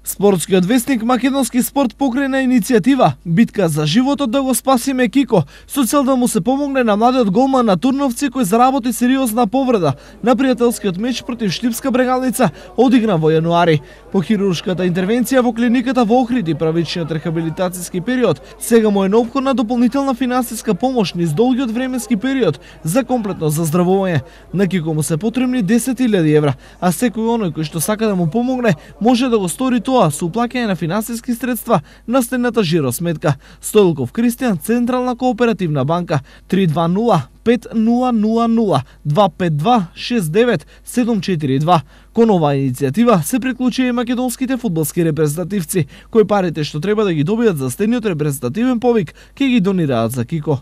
Спортскиот весник Македонски спорт покрена иницијатива Битка за животот да го спасиме Кико, со цел да му се помогне на младиот голман на Турновци кој заработи сериозна повреда на пријателскиот меч против Штипска Брегалница одигран во јануари. По хируршката интервенција во клиниката во Охрид и правичниот рехабилитацијски период, сега му е неопходна дополнителна финансиска помош низ долгиот временски период за комплетно заздравување. На Кико му се потребни 10.000 евра, а секој оној кој што сака да му помогне може да го стори тоа со уплаќање на финансиски средства на следната жиросметка: Стоилков Кристијан, Централна кооперативна банка, 320-5000-252-69-742. Кон оваа иницијатива се приклучија и македонските фудбалски репрезентативци, кои парите што треба да ги добијат за стениот репрезентативен повик ќе ги донираат за Кико.